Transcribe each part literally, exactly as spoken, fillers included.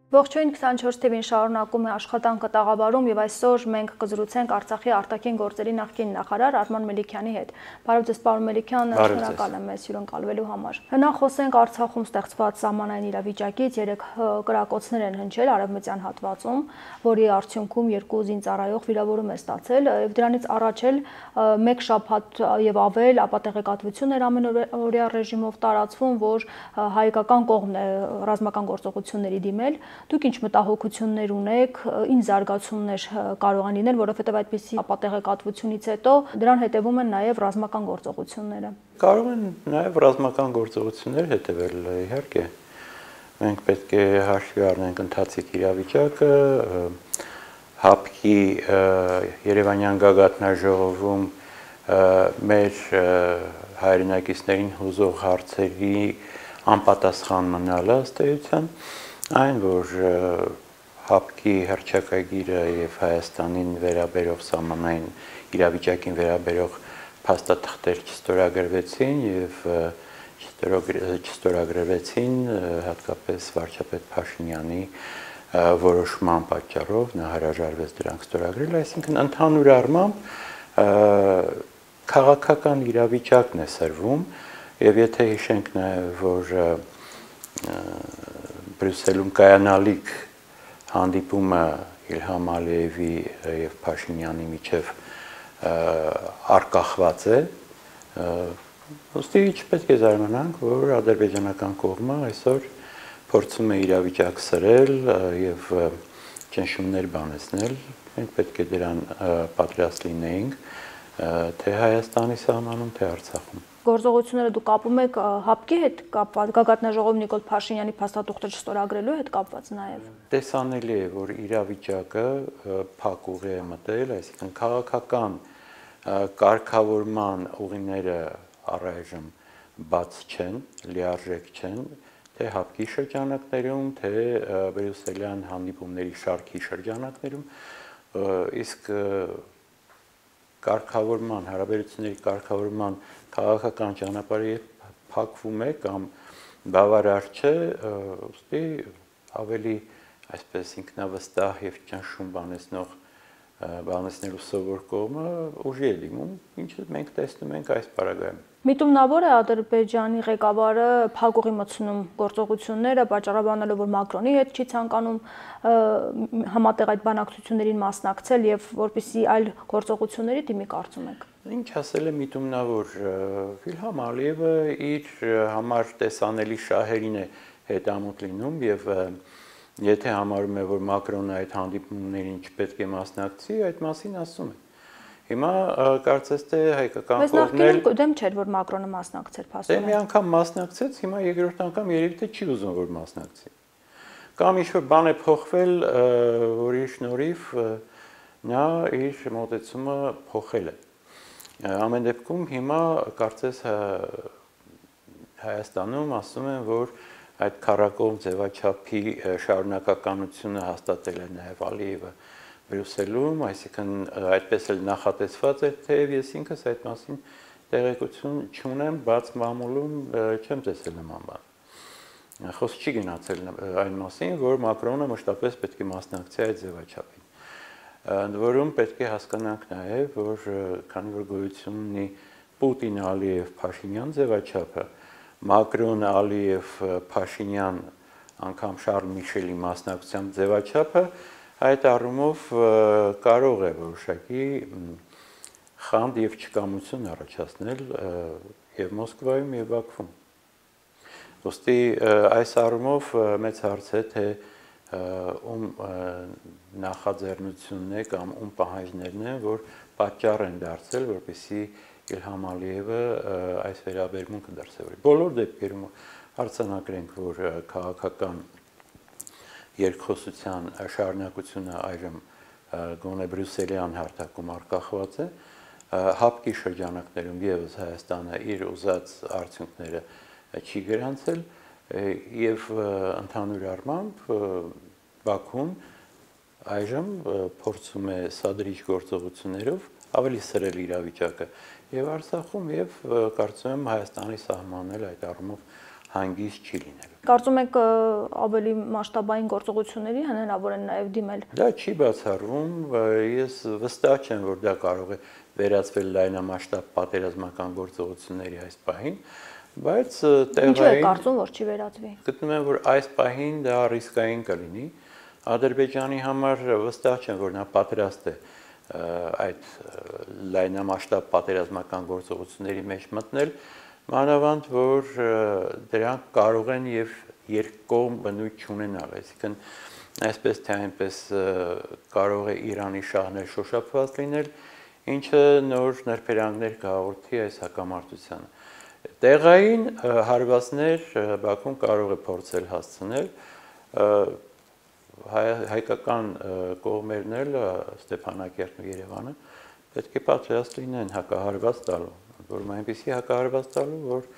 Ողջույն քսանչորս թիվին շարունակում է աշխատանքը տաղավարում եւ այսօր մենք կզրուցենք Արցախի արտաքին գործերի նախկին նախարար Արման Մելիքյանի հետ։ Բարև ձեզ, պարոն Մելիքյան, շնորհակալ եմ մեզ հյուրընկալվելու համար։ Նախ խոսենք Արցախում ստեղծված սահմանային իրավիճակից, երեք կրակոցներ են հնչել արևմտյան հատվածում, որի արդյունքում երկու զինծառայող վիրավորում է ստացել եւ դրանից առաջ էլ մեկ շաբաթ եւ ավել ապատեղեկատվություն էր ամենօրյա ռեժիմով տարածվում, որ հայկական կողմն է ռազմական գործողությունների դիմել։ Դուք ինչ մտահոգություններ ունեք, ինչ զարգացումներ կարող են լինել, որովհետև այդպիսի ապատեղեկատվությունից հետո դրան հետևում են նաև ռազմական գործողությունները։ Կարող են նաև ռազմական գործողություններ հետևել, իհարկե։ Մենք պետք է հաշվի առնենք ընթացիկ իրավիճակը, ՀԱՊԿ-ի Երևանյան գագաթնաժողովում մեր հայրենակիցներին հուզող հարցերի անպատասխան մնալը ըստ էության, այն, որ ՀԱՊԿ-ի հռչակագիրը եւ Հայաստանին վերաբերող սահմանային իրավիճակին վերաբերող փաստաթղթեր չստորագրվեցին եւ չստորագրվեցին հատկապես վարչապետ Փաշինյանի որոշման պատճառով նա հրաժարվեց դրանք ստորագրել, այսինքն ընդհանուր առմամբ քաղաքական իրավիճակն է սրվում եւ եթե հիշենք նաեւ որ Բրյուսելում կայանալիք հանդիպումը Իլհամ Ալիևի եւ Փաշինյանի միջև արկախված է, ըստի չպետք է զարմանանք, որ ադրբեջանական կողմը այսօր փորձում է իրավիճակ սրել եւ ճնշումներ բանեցնել, մենք պետք է դրան պատրաստ լինեինք, թե Հայաստանի սահմանում, թե Արցախում։ Գործողությունները դուք կապում եք ՀԱՊԿ-ի հետ կապված, գագաթնաժողով Նիկոլ Փաշինյանի փաստաթուղթը չստորագրելու հետ կապված նաև։ Տեսանելի է, որ իրավիճակը փակ ուղի է մտել, այսինքն քաղաքական կարգավորման ուղիները առայժմ բաց չեն, լիարժեք չեն, թե ՀԱՊԿ-ի շրջանակներում, թե բրյուսելյան հանդիպումների շարքի շրջանակներում, իսկ կարգավորման, հարաբերությունների կարգավորման քաղաքական ճանապարհը փակվում է կամ բավարար չէ, ուստի ավելի այսպես ինքնավստահ եւ ճնշում բանեցնող բանեցնելու սովոր կողմը ուժի է դիմում, ինչը մենք տեսնում ենք այս պարագայում։ Միտումնավոր է Ադրբեջանի ղեկավարը փակուղի մտցնում գործողությունները, պատճառաբանելով, որ Մակրոնի հետ չի ցանկանում համատեղ այդ բանակցություններին մասնակցել եւ որպեսզի այլ գործողությունների դիմի կարծում եք։ Ինչ ասել է միտումնավոր Իլհամ Ալիևը իր համար տեսանելի շահերին է հետամուտ լինում եւ եթե համարում է, որ Մակրոնը այդ հանդիպումներին չպետք է մասնակցի, այդ մասին ասում է։ Հիմա կարծես թե հայկական կողմն էլ դեմ չէր, որ Մակրոնը մասնակցեր փաստորեն։ Դե մի անգամ մասնակցեց, հիմա երկրորդ անգամ երևի թե չի ուզում որ մասնակցի։ Կամ ինչ-որ բան է փոխվել, որի շնորհիվ նա իր մոտեցումը փոխել է։ Ամեն դեպքում հիմա կարծես Հայաստանում ասում են, որ այդ քառակողմ ձևաչափի շարունակականությունը հաստատել է նաև Ալիևը Բրյուսելում, այսինքն այդպես էլ նախատեսված է, թեև ես ինքս այդ մասին տեղեկություն չունեմ, բաց մամուլում չեմ տեսել նման բան։ Խոսք չի գնացել այն մասին, որ Մակրոնը մշտապես պետք է մասնակցի այդ ձևաչափին։ Ընդ որում պետք է հասկանանք նաև, որ քանի որ գոյություն ունի Պուտին-Ալիև-Փաշինյան ձևաչափը, Մակրոն-Ալիև-Փաշինյան անգամ Շարլ Միշելի մասնակցությամբ ձևաչափը այդ առումով կարող է որոշակի խանդ եւ չկամություն առաջացնել եւ Մոսկվայում եւ Բաքվում։ Ոստի այս առումով մեծ հարց է, թե ում նախաձեռնությունն է կամ ում պահանջներն են, որ պատճառ են դարձել, որպեսզի Իլհամ Ալիևը այս վերաբերմունքը դրսևորի։ Բոլոր դեպքերում արձանագրենք, որ քաղաքական երկխոսության շարունակությունը այժմ գոնե բրյուսելյան հարթակում արկախված է, ՀԱՊԿ-ի շրջանակներում եւս Հայաստանը իր ուզած արդյունքները չի գրանցել եւ ընդհանուր առմամբ Բաքուն այժմ փորձում է սադրիչ գործողություններով ավելի սրել իրավիճակը եւ Արցախում եւ կարծում եմ Հայաստանի սահմանն էլ այդ առումով հանգիստ չի լինելու։ Կարծում եք ավելի մասշտաբային գործողությունների հնարավոր են նաև դիմել։ Դա չի բացառվում, ես վստահ չեմ, որ դա կարող է վերածվել լայնամասշտաբ պատերազմական գործողությունների այս պահին, բայց տեղային Ինչու է կարծում, որ չի վերածվի։ Գտնում եմ, որ այս պահին դա ռիսկային կլինի։ Ադրբեջանի համար վստահ չեմ, որ նա պատրաստ է այդ լայնամասշտաբ պատերազմական գործողությունների մեջ մտնել, մանավանդ որ դրանք կարող են եւ երկկողմ բնույթ չունենալ, այսինքն այսպես թե այնպես կարող է Իրանի շահներ շոշափված լինել, ինչը նոր նրբերանգներ կհաղորդի այս հակամարտությանը։ Տեղային հարվածներ Բաքուն կարող է փորձել հասցնել, հայկական կողմերն էլ Ստեփանակերտն ու Երևանը պետք է պատրաստ լինեն հակահարված տալու, որում այնպեսի հակահարված տալու, որ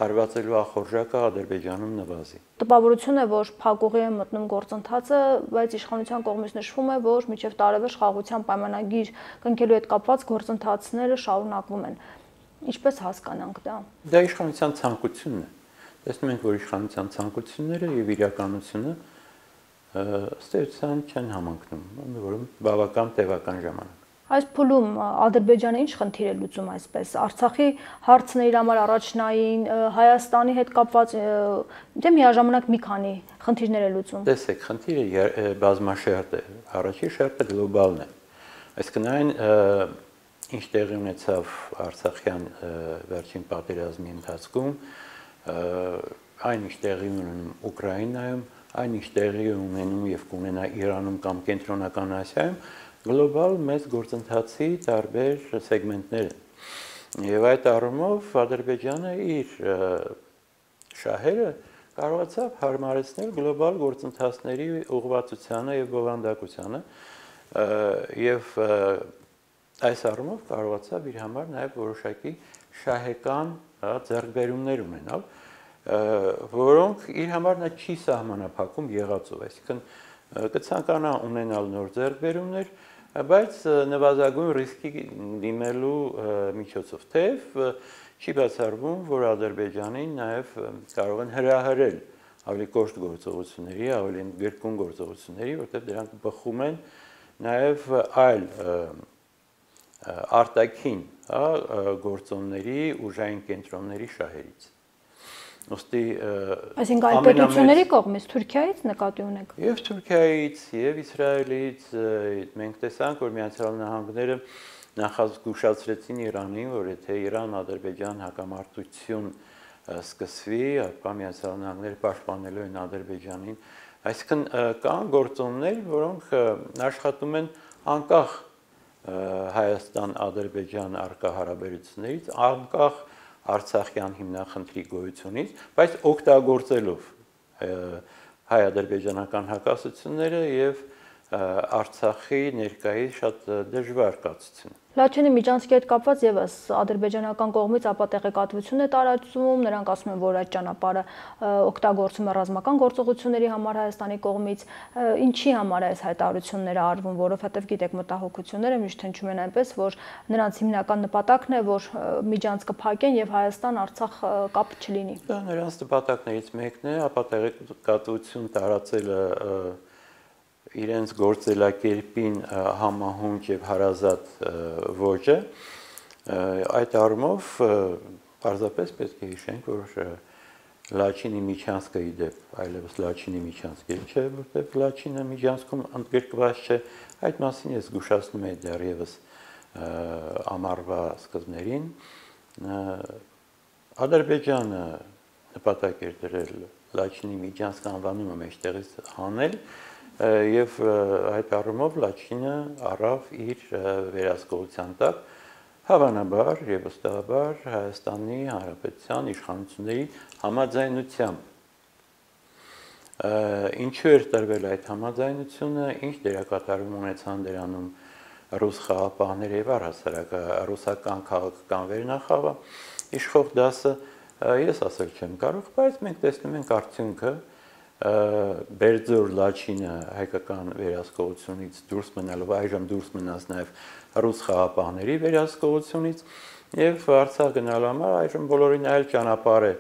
հարվածելու ախորժակը Ադրբեջանում նվազի։ Տպավորություն է, որ փակուղի է մտնում գործընթացը, բայց իշխանության կողմից նշվում է, որ մինչև տարեվերջ խաղաղության պայմանագիր կնքելու հետ կապված գործընթացները շարունակվում են։ Ինչպես հասկանանք դա։ Դա իշխանության ցանկությունն է։ Տեսնում ենք, որ իշխանության ցանկությունները եւ իրականությունը ըստ էության չեն համընկնում, որում բավական տևական ժամանակ։ Այս փուլում Ադրբեջանը ինչ խնդիր է լուծում այսպես։ Արցախի հարցն է իր համար առաջնային, Հայաստանի հետ կապված դե միաժամանակ մի քանի խնդիրներ է լուծում։ Տեսեք, խնդիրը բազմաշերտ է։ Առաջին շերտը գլոբալն է։ Այսինքն այն ինչ տեղի ունեցավ Արցախյան վերջին պատերազմի ընթացքում, այն ինչ տեղի ունենում Ուկրաինայում, այն ինչ տեղի ունենում եւ կունենա Իրանում կամ Կենտրոնական Ասիայում, գլոբալ մեծ գործընթացի տարբեր սեգմենտներ են։ Եվ այդ առումով Ադրբեջանը իր շահերը կարողացավ հարմարեցնել գլոբալ գործընթացների ուղղվածությանը եւ բովանդակությանը եւ այս առումով կարողացավ իր համար նաև որոշակի շահեկան ձեռքբերումներ ունենալ, որոնք իր համար նա չի սահմանափակում եղածով, այսինքն կցանկանա ունենալ նոր ձեռքբերումներ, բայց նվազագույն ռիսկի դիմելու միջոցով, թեև չի բացառվում, որ Ադրբեջանին նաև կարող են հրահրել ավելի կոշտ գործողությունների, ավելի գրկուն գործողությունների, որտեղ դրանք բխում են նաև այլ արտաքին գործոնների, ուժային կենտրոնների շահերից։ Ոստի այսինքն այլ պետությունների կողմից, Թուրքիայից նկատի ունեք։ Եվ Թուրքիայից, եւ Իսրայելից մենք տեսանք, որ Միացյալ Նահանգները նախազգուշացրեցին Իրանին, որ եթե Իրան-Ադրբեջան հակամարտություն սկսվի, ապա Միացյալ Նահանգները պաշտպանելու են Ադրբեջանին։ Այսինքն կան գործոններ, որոնք աշխատում են անկախ Հայաստան-Ադրբեջան առկա հարաբերություններից, անկախ Արցախյան հիմնախնդրի գոյությունից, բայց օգտագործելով հայ-ադրբեջանական հակասությունները եւ Արցախի ներկայիս շատ դժվար կացությունը։ Լաչինի միջանցքի հետ կապված եւս ադրբեջանական կողմից ապատեղեկատվություն է տարածվում, նրանք ասում են, որ այդ ճանապարհը օգտագործվում է ռազմական գործողությունների համար Հայաստանի կողմից, ինչի համար է այս հայտարարությունները արվում, որովհետեւ գիտեք մտահոգությունները միշտ հնչում են այնպես, որ նրանց հիմնական նպատակն է, որ միջանցքը փակեն եւ Հայաստան-Արցախ կապ չլինի։ Դա նրանց նպատակներից մեկն է, ապատեղեկատվություն տարածելը իրենց գործելակերպին համահունչ եւ հարազատ ոճը, այդ առումով պարզապես պետք է հիշենք, որ Լաչինի միջանցքը իդեպ այլևս Լաչինի միջանցք չէ, որտեղ Լաչինը միջանցքում ընդգրկված չէ, այդ մասին ես զգուշացնում եմ դեռևս ամառվա սկզբներին։ Ադրբեջանը նպատակ էր դրել Լաչինի միջանցք անվանումը մեջտեղից հանել եւ այդ առումով Լաչինը առավ իր վերահսկողության տակ հավանաբար եւ վստահաբար Հայաստանի Հանրապետության իշխանությունների համաձայնությամբ։ Ինչու էր տրվել այդ համաձայնությունը, ինչ դերակատարում ունեցան դրանում ռուս խաղապահները եւ առհասարակ ռուսական քաղաքական վերնախավը, իշխող դասը, ես ասել չեմ կարող, բայց մենք տեսնում ենք արդյունքը Բերձոր Լաչինը հայկական վերահսկողությունից դուրս մնալով, այժմ դուրս մնաց նաև ռուս խաղապահների վերահսկողությունից եւ Արցախ գնալու համար այժմ բոլորին այլ ճանապարհ է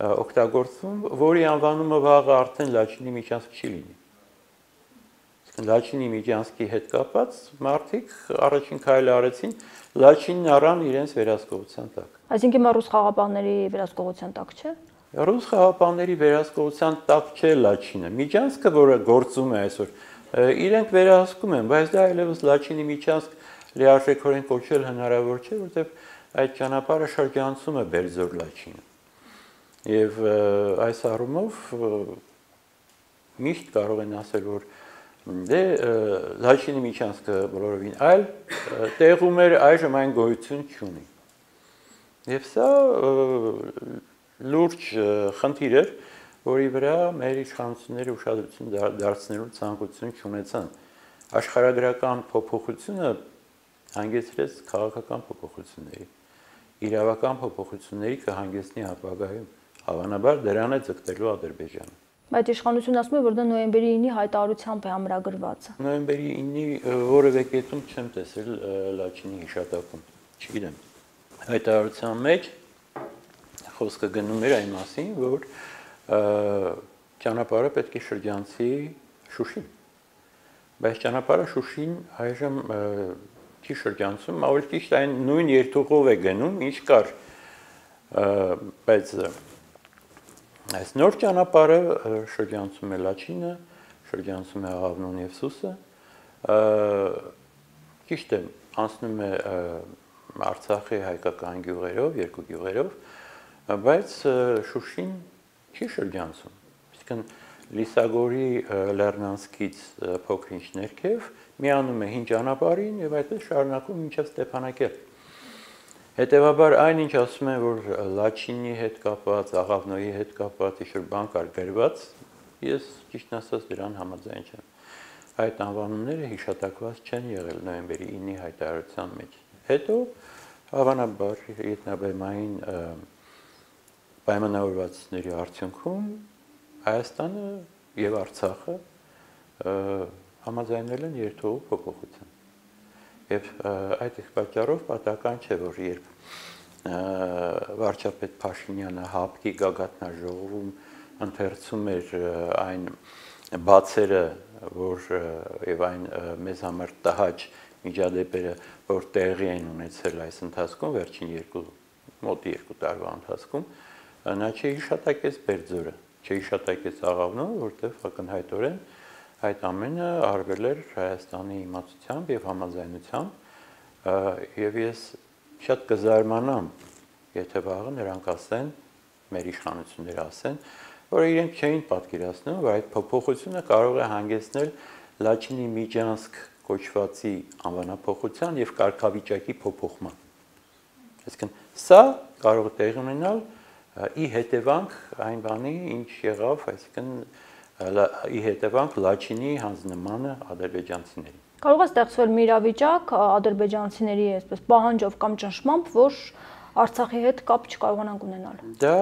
օգտագործվում, որի անվանումը վաղը արդեն Լաչինի միջանցք չի լինի։ Լաչինի միջանցքի հետ կապած մարդիկ առաջին քայլը արեցին, Լաչինն առան իրենց վերահսկողության տակ։ Այսինքն ռուս խաղապահների վերահսկողության տակ չէ։ Ռուս խաղապահների վերահսկողության տակ չէ Լաչինը։ Միջանցքը, որը գործում է այսօր, իրենք վերահսկում են, բայց դա այլևս Լաչինի միջանցք լիարժեքորեն կոչել հնարավոր չէ, որտեղ այդ ճանապարհը շրջանցում է Բերձոր Լաչինը։ Եվ այս առումով միշտ կարող են ասել, որ դե Լաչինի միջանցքը բոլորովին այլ տեղում էր, այժմ այն գոյություն չունի։ Եվ սա լուրջ խնդիր էր, որի վրա մեր իշխանությունները ուշադրություն դարձնելու ցանկություն չունեցան։ Աշխարհագրական փոփոխությունը հանգեցրեց քաղաքական փոփոխությունների, իրավական փոփոխությունների կհանգեցնի ապագայում, հավանաբար դրան է ձգտելու Ադրբեջանը։ Բայց իշխանությունը ասում է, որ դա նոյեմբերի ինի հայտարարությամբ է ամրագրված։ Նոյեմբերի ինի որևէ կետում չեմ տեսել Լաչինի հիշատակում, չգիտեմ։ Հայտարարության մեջ խոսքը գնում էր այն մասին, որ ճանապարհը պետք է շրջանցի Շուշին։ Բայց ճանապարհը Շուշին այժմ չի շրջանցում, ավելի ճիշտ այն նույն երթուղով է գնում, ինչ կար, բայց այս նոր ճանապարհը շրջանցում է Լաչինը, շրջանցում է Աղավնոն եւ Սուսը, ճիշտ է, անցնում է Արցախի հայկական գյուղերով, երկու գյուղերով, բայց Շուշին չի շրջանցում։ Իսկն Լիսագորի Լեռնանսկից փոքր-ինչ ներքև միանում է հին ճանապարհին եւ այդպես շարունակում մինչև Ստեփանակերտ։ Հետևաբար այնինչ ասում են, որ Լաչինի հետ կապված, Աղավնոյի հետ կապված ինչ-որ բան կար գրված, ես ճիշտն ասած դրան համաձայն չեմ։ Այդ անվանումները հիշատակված չեն եղել նոյեմբերի ինի հայտարարության մեջ։ Հետո հավանաբար ետնաբեմային պայմանավորվածությունների արդյունքում Հայաստանը եւ Արցախը համաձայնել են երթուղու փոփոխության։ Եվ այդ պատճառով պատահական չէ, որ երբ վարչապետ Փաշինյանը ՀԱՊԿ-ի գագաթնաժողովում ընթերցում էր այն բացերը, որ եւ այն մեզ համար տհաճ միջադեպերը, որ տեղի են ունեցել այս ընթացքում, վերջին երկու մոտ երկու տարվա ընթացքում, նա չհիշատակեց Բերձորը, չհիշատակեց Աղավնոն, որտեղ ակնհայտորեն այդ ամենը արվել էր Հայաստանի իմացությամբ եւ համաձայնությամբ եւ ես շատ կզարմանամ, եթե վաղը նրանք ասեն, մեր իշխանությունները ասեն, որ իրենք չէին պատկերացնում, որ այդ փոփոխությունը կարող է հանգեցնել Լաչինի միջանցք կոչվածի անվանափոխության եւ կարգավիճակի փոփոխման։ Այսինքն սա կարող է տեղի ունենալ ի հետևանք այն բանի, ինչ եղավ, այսինքն ի հետևանք Լաչինի հանձնմանը ադրբեջանցիներին։ Կարող է ստեղծվել մի իրավիճակ ադրբեջանցիների այսպես պահանջով կամ ճնշմամբ, որ Արցախի հետ կապ չկարողանանք ունենալ։ Դա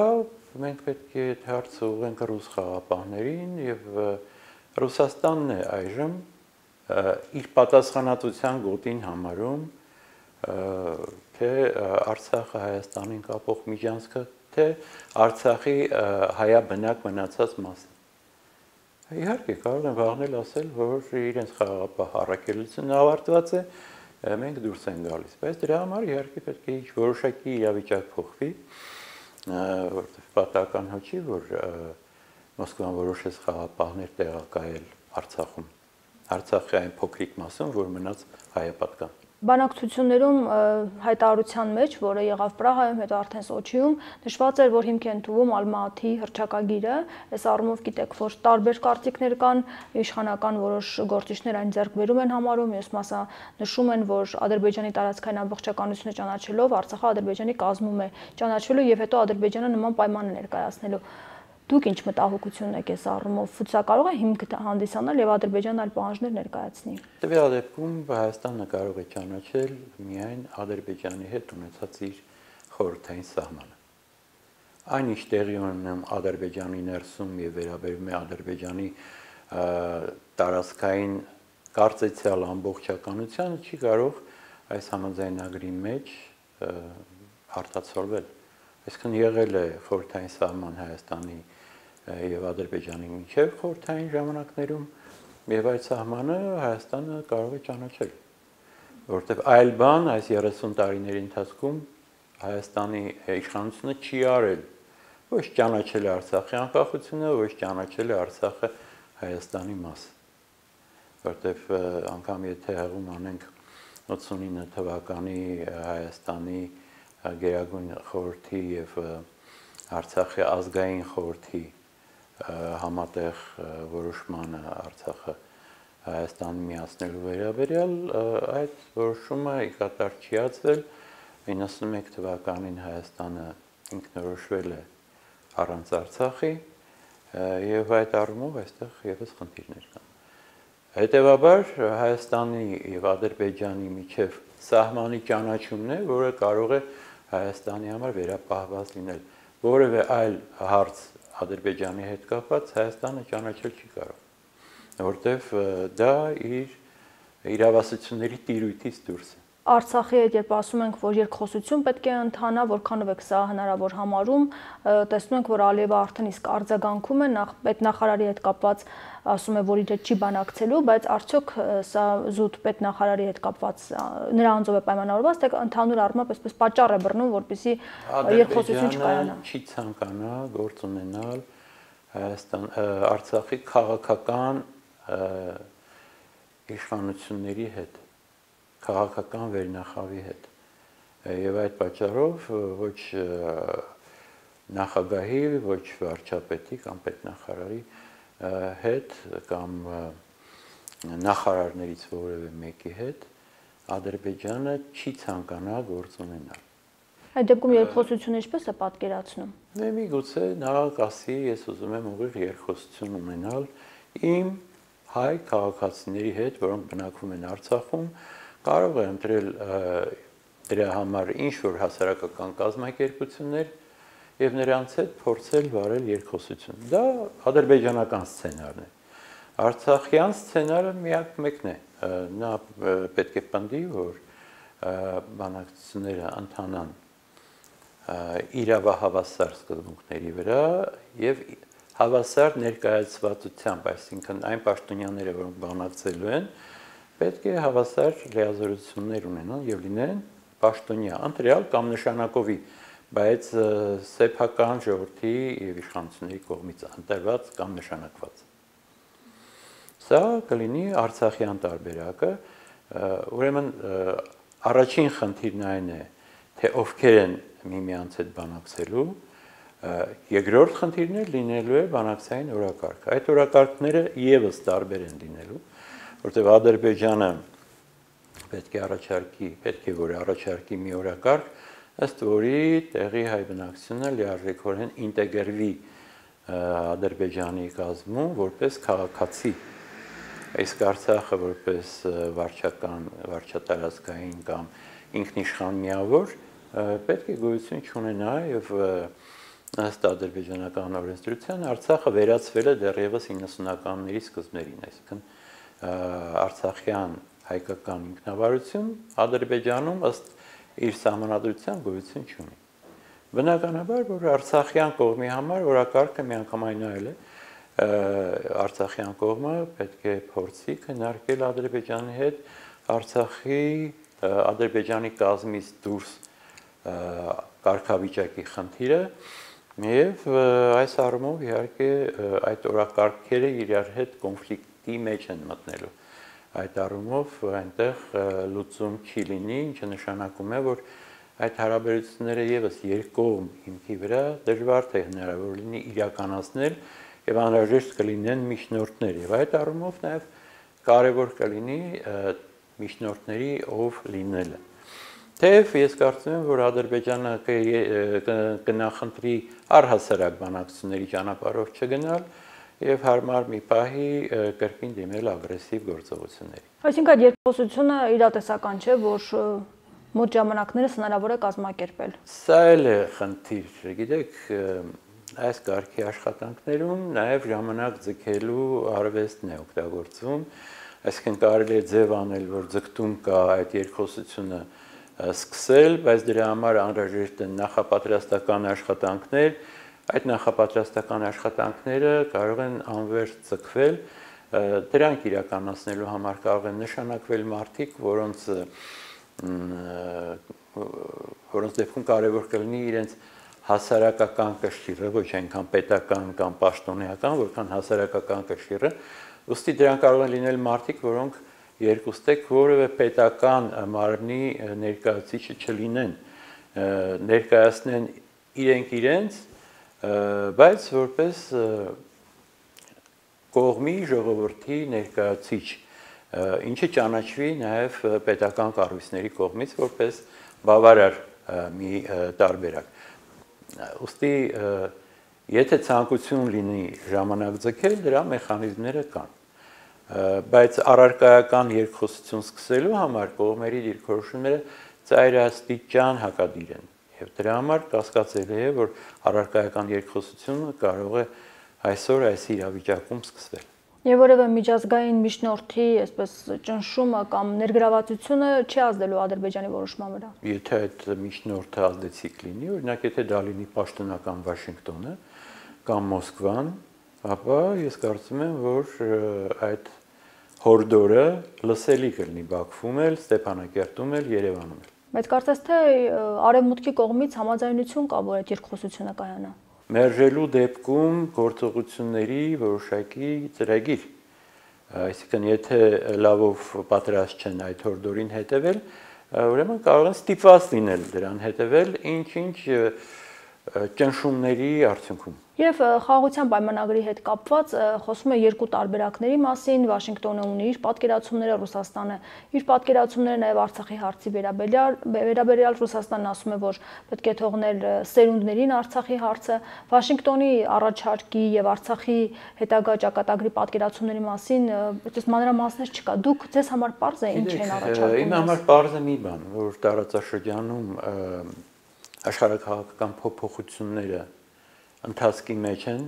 մենք պետք է հարցը ուղղենք ռուս խաղապահներին եւ Ռուսաստանն է այժմ իր պատասխանատվության գոտին համարում թե Արցախը Հայաստանին կապող միջանցքը, թե Արցախի հայաբնակ մնացած մասը։ Իհարկե կարող են վաղնել ասել, որ իրենց խաղապահ առաքելությունը ավարտված է, մենք դուրս են գալիս, բայց դրա համար իհարկե պետք է ինչ որոշակի իրավիճակ փոխվի, որտեղ պատահական հոչի, որ Մոսկվան որոշեց խաղապահներ տեղակայել Արցախում, Արցախի այն փոքրիկ մասում, որ մնաց հայապատկան։ Բանակցություններում հայտարարության մեջ, որը եղավ Պրահայում, հետո արդեն Սոչիում, նշված էր, որ հիմք են թվում Ալմատի հռչակագիրը, այս առումով գիտեք, որ տարբեր կարծիքներ կան, իշխանական որոշ գործիչներ այն ձեռքբերում են համարում, մյուս մասը նշում են, որ Ադրբեջանի տարածքային ամբողջականությունը ճանաչելով Արցախը Ադրբեջանի կազմում է ճանաչելու եւ հետո Ադրբեջանը նման պայման ներկայացնելու։ Դուք ինչ մտահոգություն եք այս առումով, սա կարող է հիմք հանդիսանալ եւ Ադրբեջանը այլ պահանջներ ներկայացնի։ Տվյալ դեպքում Հայաստանը կարող է ճանաչել միայն Ադրբեջանի հետ ունեցած իր խորհրդային սահմանը։ Այնինչ տեղի ունենում Ադրբեջանի ներսում եւ վերաբերում է Ադրբեջանի տարածքային կարծեցյալ ամբողջականությանը, չի կարող այս համաձայնագրի մեջ արտացոլվել։ Այսինքն եղել է խորհրդային սահման Հայաստանի եւ Ադրբեջանի միջև խորհրդային ժամանակներում եւ այդ սահմանը Հայաստանը կարող է ճանաչել, որովհետեւ այլ բան այս երեսուն տարիների ընթացքում Հայաստանի իշխանությունը չի արել, ոչ ճանաչել է Արցախի անկախությունը, ոչ ճանաչել է Արցախը Հայաստանի մաս, որովհետեւ անգամ եթե հեղում անենք ութսունինը թվականի Հայաստանի Գերագույն խորհրդի եւ Արցախի ազգային խորհրդի համատեղ որոշմանը Արցախը Հայաստան միացնելու վերաբերյալ այդ որոշումը ի կատար չի ածվել իննսունմեկ թվականին Հայաստանը ինքնորոշվել է առանց Արցախի եւ այդ առումով այստեղ եւս խնդիրներ կան։ Հետևաբար Հայաստանի եւ Ադրբեջանի միջև սահմանի ճանաչումն է, որը կարող է Հայաստանի համար վերապահված լինել։ Որևէ այլ հարց Ադրբեջանի հետ կապված Հայաստանը ճանաչել չի կարող, որտեվ դա իր իրավասությունների տիրույթից դուրս է։ Արցախի հետ երբ ասում ենք, որ երկխոսություն պետք է ընթանա, որքանով եք սա հնարավոր համարում, տեսնում ենք, որ Ալիևը արդեն իսկ արձագանքում է, նախ պետնախարարի հետ կապված ասում է, որ իր հետ չի բանակցելու, բայց արդյոք սա զուտ պետնախարարի հետ կապված նրա անձով է պայմանավորված, թե ընդհանուր առմամբ այսպես պատճառ է բռնում, որպեսզի երկխոսություն չկայանա։ Չի ցանկանա գործ ունենալ Հայաստան Արցախի քաղաքական իշխանությունների հետ, քաղաքական վերնախավի հետ եւ այդ պատճառով ոչ նախագահի, ոչ վարչապետի կամ պետնախարարի հետ կամ նախարարներից որևէ մեկի հետ Ադրբեջանը չի ցանկանա գործ ունենալ։ Այդ դեպքում երկխոսությունը ինչպես է պատկերացնում։ Դե միգուցե նա կասի, ես ուզում եմ ուղիղ երկխոսություն ունենալ իմ հայ քաղաքացիների հետ, որոնք բնակվում են Արցախում, կարող է ընտրել դրա համար ինչ-որ հասարակական կազմակերպություններ եւ նրանց հետ փորձել վարել երկխոսություն։ Դա ադրբեջանական սցենարն է։ Արցախյան սցենարը միակ մեկն է։ Նա պետք է պնդի, որ բանակցությունները ընթանան իրավահավասար սկզբունքների վրա եւ հավասար ներկայացվածությամբ, այսինքն այն պաշտոնյաները, որոնք բանակցելու են, պետք է հավասար լիազորություններ ունենան եւ լինեն պաշտոնյա, ընտրյալ կամ նշանակովի, բայց սեփական ժողովրդի եւ իշխանությունների կողմից ընտրված կամ նշանակված։ Սա կլինի Արցախյան տարբերակը, ուրեմն առաջին խնդիրն այն է, թե ովքեր են միմյանց հետ բանակցելու, երկրորդ խնդիրն է լինելու է բանակցային օրակարգ։ Այդ օրակարգները եւս տարբեր են լինելու, որտեղ Ադրբեջանը պետք է առաջարկի, պետք է որ առաջարկի մի օրակարգ, ըստ որի տեղի հայ բնակչությունը լիարժեքորեն ինտեգրվի Ադրբեջանի կազմում որպես քաղաքացի, իսկ Արցախը որպես վարչական, վարչատարածքային կամ ինքնիշխան միավոր պետք է գոյություն չունենա եւ ըստ ադրբեջանական օրենսդրության Արցախը վերածվել է դեռևս իննսունականների սկզբներին, այսինքն Արցախյան հայկական ինքնավարություն Ադրբեջանում ըստ իր սահմանադրության գոյություն չունի։ Բնականաբար, որ Արցախյան կողմի համար օրակարգը միանգամայն այլ է, Արցախյան կողմը պետք է փորձի քննարկել Ադրբեջանի հետ Արցախի Ադրբեջանի կազմից դուրս կարգավիճակի խնդիրը եւ այս առումով իհարկե այդ օրակարգերը իրար հետ կոնֆլիկտի մեջ են մտնելու։ Այդ առումով այնտեղ լուծում չի լինի, ինչը նշանակում է, որ այդ հարաբերությունները եւս երկկողմ հիմքի վրա դժվար թե հնարավոր լինի իրականացնել եւ անհրաժեշտ կլինեն միջնորդներ եւ այդ առումով նաեւ կարեւոր կլինի միջնորդների ով լինելը։ Թեև ես կարծում եմ, որ Ադրբեջանը կնախընտրի առհասարակ բանակցությունների ճանապարհով չգնալ եւ հարմար մի պահի կրկին դիմել ագրեսիվ գործողությունների։ Այսինքն այդ երկխոսությունը իրատեսական չէ, որ մոտ ժամանակներս հնարավոր է կազմակերպել։ Սա էլ է խնդիր, գիտեք, այս կարգի աշխատանքներում նաեւ ժամանակ ձգելու արվեստն է օգտագործվում, այսինքն կարելի է ձև անել, որ ձգտում կա այդ երկխոսությունը սկսել, բայց դրա համար անհրաժեշտ են նախապատրաստական աշխատանքներ, այդ նախապատրաստական աշխատանքները կարող են անվերջ ձգվել, դրանք իրականացնելու համար կարող են նշանակվել մարդիկ, որոնց որոնց դեպքում կարևոր կլինի իրենց հասարակական կշիռը, ոչ այնքան պետական կամ պաշտոնեական, որքան հասարակական կշիռը, ուստի դրանք կարող են լինել մարդիկ, որոնք երկուստեք որևէ պետական մարմնի ներկայացուցիչը չլինեն, ներկայացնեն իրենք իրենց, բայց որպես կողմի ժողովրդի ներկայացուցիչ, ինչը ճանաչվի նաև պետական կառույցների կողմից որպես բավարար մի տարբերակ։ Ուստի եթե ցանկություն լինի ժամանակ ձգել, դրա մեխանիզմները կան։ Բայց առարկայական երկխոսություն սկսելու համար կողմերի դիրքորոշումները ծայրաստիճան հակադիր են։ Եվ դրա համար կասկածելի է, որ առարկայական երկխոսությունը կարող է այսօր այս իրավիճակում սկսվել։ Եվ որևէ միջազգային միջնորդի այսպես ճնշումը կամ ներգրավվածությունը չի ազդելու Ադրբեջանի որոշման վրա։ Եթե այդ միջնորդը ազդեցիկ լինի, օրինակ եթե դա լինի պաշտոնական Վաշինգտոնը կամ Մոսկվան, ապա ես կարծում եմ, որ այդ հորդորը լսելի կլինի Բաքվում էլ, Ստեփանակերտում էլ, Երևանում էլ։ Բայց կարծես թե արևմուտքի կողմից համաձայնություն կա, որ այդ երկխոսությունը կայանա։ Մերժելու դեպքում գործողությունների որոշակի ծրագիր, այսինքն եթե լավով պատրաստ չեն այդ հորդորին հետևել, ուրեմն կարող են ստիպված լինել դրան հետևել ինչ-ինչ ճնշումների արդյունքում։ Եվ խաղաղության պայմանագրի հետ կապված խոսվում է երկու տարբերակների մասին, Վաշինգտոնը ունի իր պատկերացումները, Ռուսաստանը իր պատկերացումները, նաև Արցախի հարցի վերաբերյալ, վերաբերյալ Ռուսաստանն ասում է, որ պետք է թողնել սերունդներին Արցախի հարցը, Վաշինգտոնի առաջարկի եւ Արցախի հետագա ճակատագրի պատկերացումների մասին այդպես մանրամասներ չկա։ Դուք ձեզ համար պարզ է ինչ են առաջարկում։ Իմ համար պարզ է մի բան, որ տարածաշրջանում աշխարհակաղակական փոփոխությունները ընթացքի մեջ են,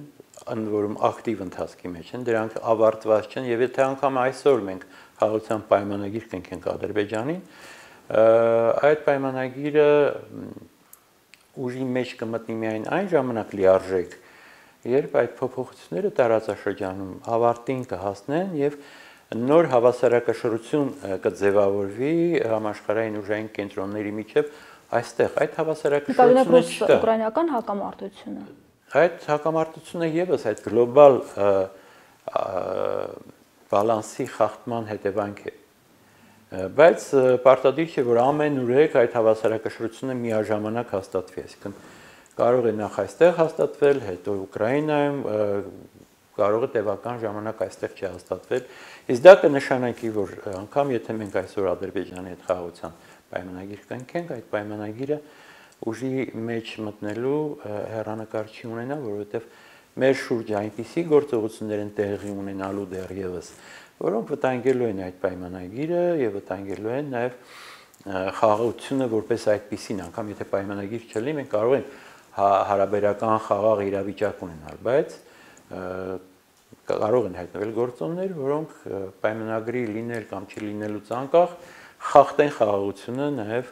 ընդ որում ակտիվ ընթացքի մեջ են, դրանք ավարտված չեն եւ եթե անգամ այսօր մենք խաղաղության պայմանագիր կնքենք Ադրբեջանին, այդ պայմանագիրը ուժի մեջ կմտնի միայն այն ժամանակ լիարժեք, երբ այդ փոփոխությունները տարածաշրջանում ավարտին կհասնեն եւ նոր հավասարակշռություն կձևավորվի համաշխարհային ուժային կենտրոնների միջև այստեղ այդ հավասարակշռությունը չկա։ Ուկրաինական հակամարտությունը Այդ հակամարտությունը եւս այդ գլոբալ բալանսի խախտման հետևանք է։ Բայց պարտադիր չէ, որ ամենուրեք այդ հավասարակշռությունը միաժամանակ հաստատվի, այսինքն կարող է նախ այստեղ հաստատվել, հետո Ուկրաինայում, կարող է տևական ժամանակ այստեղ չհաստատվել։ Իսկ դա կնշանակի, որ անգամ եթե մենք այսօր Ադրբեջանի հետ խաղաղության պայմանագիր կնքենք, այդ պայմանագիրը ուժի մեջ մտնելու հեռանկար չի ունենա, որովհետև մեր շուրջը այնպիսի գործողություններ են տեղի ունենալու դեռևս, որոնք վտանգելու են այդ պայմանագիրը եւ վտանգելու են նաեւ խաղաղությունը որպես այդպիսին, անգամ եթե պայմանագիր չլինի, մենք կարող ենք հարաբերական խաղաղ իրավիճակ ունենալ, բայց կարող են հայտնվել գործոններ, որոնք պայմանագրի լինել կամ չլինելուց անկախ խախտեն խաղաղությունը նաեւ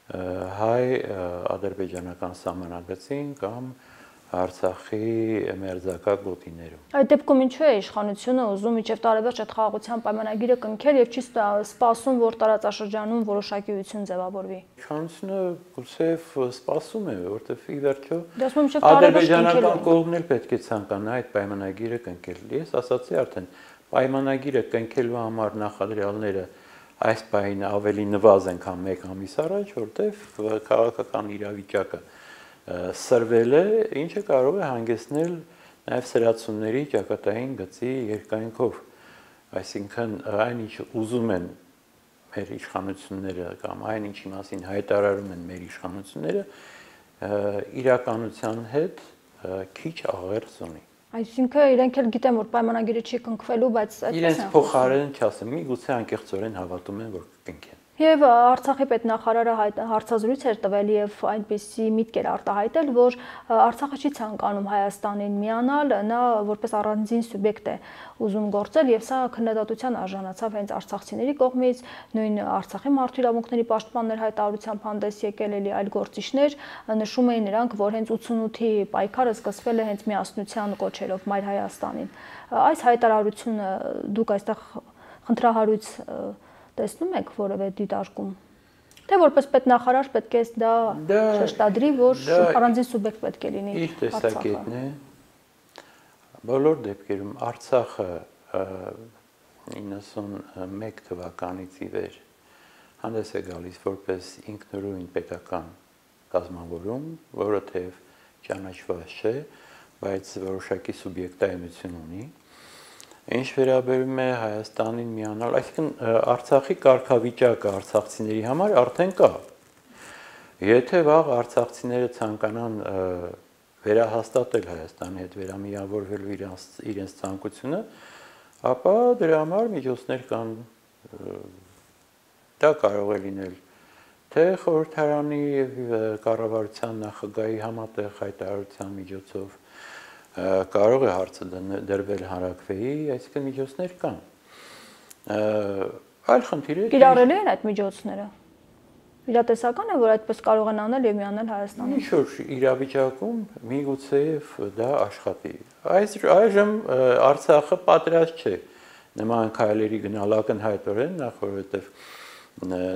հայ ադրբեջանական սահմանագծին կամ Արցախի մերձակա գոտիներում։ Այդ դեպքում ինչու է իշխանությունը ուզում մինչև տարեվերջ այդ խաղաղության պայմանագիրը կնքել եւ չի սպասում, որ տարածաշրջանում որոշակիություն ձևավորվի։ Իշխանությունը գուցեև սպասում է, որովհետեւ ի վերջո ադրբեջանական կողմն էլ պետք է ցանկանա այդ պայմանագիրը կնքել։ Ես ասացի արդեն, պայմանագիրը կնքելու համար նախադրյալները այս պահին ավելի նվազ են քան մեկ ամիս առաջ, որտեղ քաղաքական իրավիճակը սրվել է, ինչը կարող է հանգեցնել նաև սրացումների ճակատային գծի երկայնքով, այսինքն այն ինչ ուզում են մեր իշխանությունները կամ այն ինչի մասին հայտարարում են մեր իշխանությունները, իրականության հետ քիչ աղերս ունի։ Այսինքն իրենք էլ գիտեն, որ պայմանագիրը չի կնքվելու, բայց այդպես են։ Իրենց փոխարեն չասեմ, միգուցե անկեղծորեն հավատում են, որ կնքեն։ Եվ Արցախի պետնախարարը հարցազրույց էր տվել եւ այնպեսի միտք էր արտահայտել, որ Արցախը չի ցանկանում Հայաստանին միանալ, նա որպես առանձին սուբյեկտ է ուզում գործել եւ սա քննադատության արժանացավ հենց արցախցիների կողմից, նույն Արցախի մարդու իրավունքների պաշտպաններ հայտարարությամբ հանդես եկել էլի այլ գործիչներ նշում էին նրանք, որ հենց ութսունութի պայքարը սկսվել է հենց միասնության կոչերով Մայր Հայաստանին։ Այս հայտարարությունը դուք այստեղ խնդրահարույց տեսնում եք որևէ դիտարկում, թե որպես պետնախարար պետք է դա շեշտադրի, որ առանձին սուբյեկտ պետք է լինի իր տեսակետն է։ Բոլոր դեպքերում Արցախը իննսունմեկ թվականից ի վեր հանդես է գալիս որպես ինքնուրույն պետական կազմավորում, որը թեև ճանաչված չէ, բայց որոշակի սուբյեկտայնություն ունի։ Ինչ վերաբերում է Հայաստանին միանալ, այսինքն Արցախի կարգավիճակը արցախցիների համար արդեն կա։ Եթե վաղ արցախցիները ցանկանան վերահաստատել Հայաստանի հետ վերամիավորվելու իրենց իրենց ցանկությունը, ապա դրա համար միջոցներ կան, դա կարող է լինել թե խորհրդարանի եւ կառավարության նախագահի համատեղ հայտարարության միջոցով կարող է հարցը դրվել հանրաքվեի, այսինքն միջոցներ կան։ Այլ խնդիրը կիրառելի են այդ միջոցները։ Իրատեսական է, որ այդպես կարող են անել եւ միանել Հայաստանին։ Ինչ-որ իրավիճակում միգուցեև դա աշխատի։ Այս այժմ Արցախը պատրաստ չէ նման քայլերի գնալ ակնհայտորեն, նախ որովհետեւ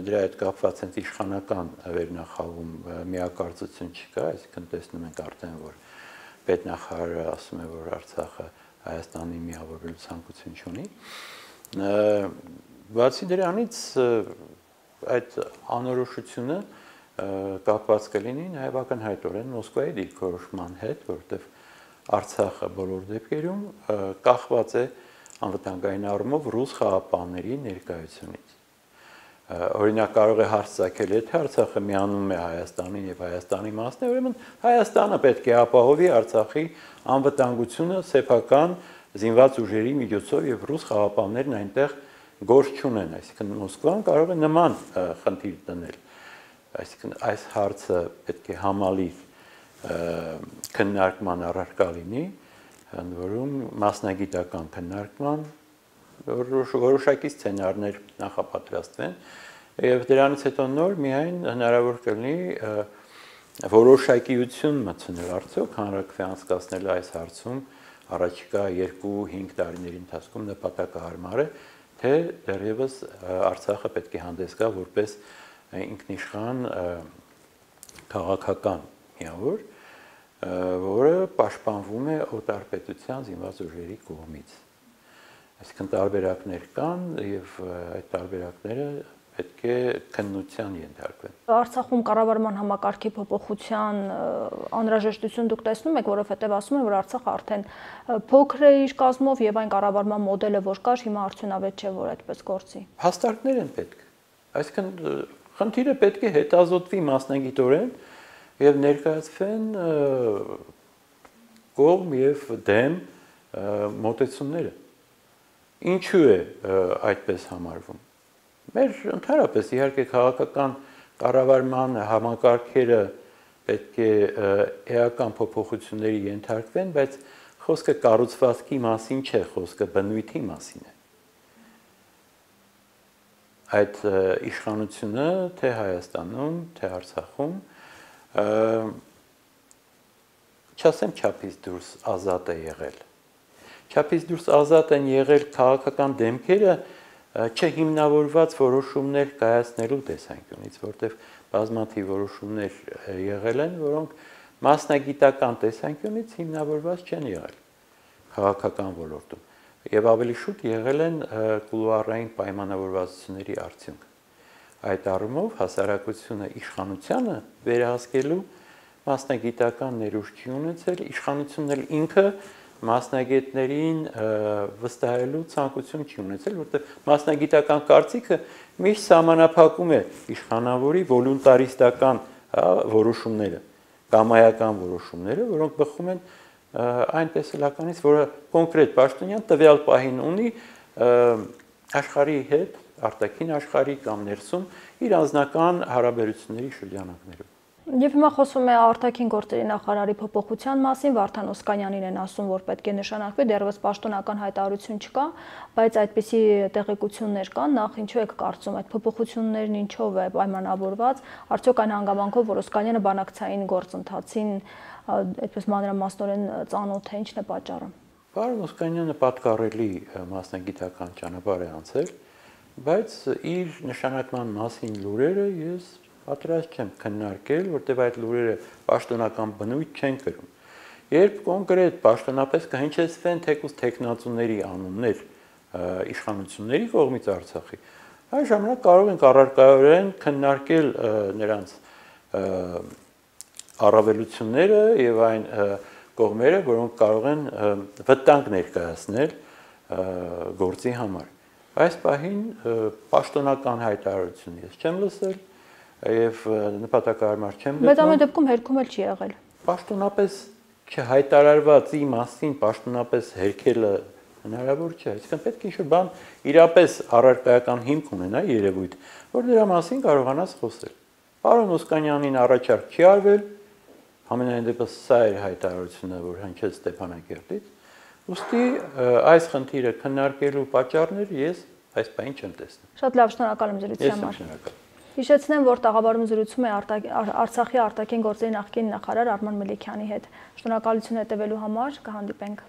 դրա հետ կապված հենց իշխանական վերնախավում միակարծություն չկա, այսինքն տեսնում ենք արդեն, որ պետնախարարը ասում է, որ Արցախը Հայաստանի միավորվելու ցանկություն չունի։ Բացի դրանից այդ անորոշությունը կապված կլինի նաև ակնհայտորեն Մոսկվայի դիրքորոշման հետ, որովհետև Արցախը բոլոր դեպքերում կախված է անվտանգային առումով ռուս խաղապանների ներկայությունից։ Օրինակ կարող է հարց ցակել, եթե Արցախը միանում է Հայաստանին եւ Հայաստանի մասն է, ուրեմն Հայաստանը պետք է ապահովի Արցախի անվտանգությունը սեփական զինված ուժերի միջոցով եւ ռուս խաղապաններն այնտեղ գործ չունեն, այսինքն Մոսկվան կարող է նման խնդիր դնել։ Այսինքն այս հարցը պետք է համալիր քննարկման առարկա լինի, ընդ որում մասնագիտական քննարկման որոշակի սցենարներ նախապատրաստվեն եւ դրանից հետո նոր միայն հնարավոր կլինի որոշակիություն մտցնել արդյոք հանրաքվե անցկացնել այս հարցում առաջիկա երկու-հինգ տարիների ընթացքում նպատակահարմար է, թե դեռևս Արցախը պետք է հանդես գա որպես ինքնիշխան քաղաքական միավոր, որը պաշտպանվում է օտարպետության զինված ուժերի կողմից։ Այսինքն տարբերակներ կան եւ այդ տարբերակները պետք է քննության ենթարկվեն։ Արցախում կառավարման համակարգի փոփոխության անհրաժեշտություն դուք տեսնում եք, որովհետեւ ասում են, որ Արցախը արդեն փոքր է իր կազմով եւ այն կառավարման մոդելը, որ կար, հիմա արդյունավետ չէ, որ այդպես գործի։ Հաստատներ են պետք։ Այսինքն խնդիրը պետք է հետազոտվի մասնագիտորեն եւ ներկայացվեն կողմ եւ դեմ մոտեցումները։ Ինչու է այդպես համարվում։ Մեր ընդհանրապես իհարկե քաղաքական կառավարման համակարգերը պետք է էական փոփոխությունների ենթարկվեն, բայց խոսքը կառուցվածքի մասին չէ, խոսքը բնույթի մասին է։ Այդ իշխանությունը թե Հայաստանում, թե Արցախում չասեմ չափից դուրս ազատ է եղել։ Չափից դուրս ազատ են եղել քաղաքական դեմքերը չհիմնավորված որոշումներ կայացնելու տեսանկյունից, որտեղ բազմաթիվ որոշումներ եղել են, որոնք մասնագիտական տեսանկյունից հիմնավորված չեն եղել քաղաքական ոլորտում եւ ավելի շուտ եղել են կուլուարային պայմանավորվածությունների արդյունք։ Այդ առումով հասարակությունը իշխանությանը վերահսկելու մասնագիտական ներուժ չի ունեցել, իշխանությունն էլ ինքը մասնագետներին վստահելու ցանկություն չի ունեցել, որտեղ մասնագիտական կարծիքը միշտ սահմանափակում է իշխանավորի վոլունտարիստական որոշումները, կամայական որոշումները, որոնք բխում են այն տեսլականից, որը կոնկրետ պաշտոնյան տվյալ պահին ունի աշխարհի հետ արտաքին աշխարհի կամ ներսում իր անձնական հարաբերությունների շրջանակներում։ Եվ հիմա խոսվում է արտաքին գործերի նախարարի փոփոխության մասին, Վարդան Օսկանյանին են ասում, որ պետք է նշանակվի, դեռևս պաշտոնական հայտարարություն չկա, բայց այդպիսի տեղեկություններ կան, նախ ինչու եք կարծում այդ փոփոխություններն ինչով է պայմանավորված, արդյոք այն հանգամանքով, որ Օսկանյանը բանակցային գործընթացին այդպես մանրամասնորեն ծանոթ է, ինչն է պատճառը։ Պարոն Օսկանյանը պատկառելի մասնագիտական ճանապարհ է անցել, բայց իր նշանակման մասին լուրերը ես պատրաստ չեմ քննարկել, որտեղ այդ լուրերը պաշտոնական բնույթ չեն կրում։ Երբ կոնկրետ պաշտոնապես կհնչեցվեն թեկուզ տեխնացուների անուններ իշխանությունների կողմից Արցախի, այն ժամանակ կարող ենք առարկայորեն քննարկել նրանց առավելությունները եւ այն կողմերը, որոնք կարող են վտանգ ներկայացնել գործի համար։ Այս պահին պաշտոնական հայտարարություն ես չեմ լսել եւ նպատակահարմար չեմ գտնում։ Բայց ամեն դեպքում հերքում էլ չի եղել։ Պաշտոնապես չհայտարարվածի մասին պաշտոնապես հերքելը հնարավոր չէ։ Այսինքն պետք է ինչ-որ բան իրապես առարկայական հիմք ունենա երևույթ, որ դրա մասին կարողանաս խոսել։ Պարոն Օսկանյանին առաջարկ չի արվել, ամենայն դեպս սա էր հայտարարությունը, որ հնչեց Ստեփանակերտից։ Ուստի այս խնդիրը քննարկելու պատճառներ ես այս բանին չեմ տեսնում։ Շատ լավ, շնորհակալ եմ զրույցի համար։ Հիշեցնեմ, որ տաղավարում զրուցում է Արցախի արտաքին գործերի նախկին նախարար Արման Մելիքյանի հետ։ Շնորհակալություն հետևելու համար, կհանդիպենք։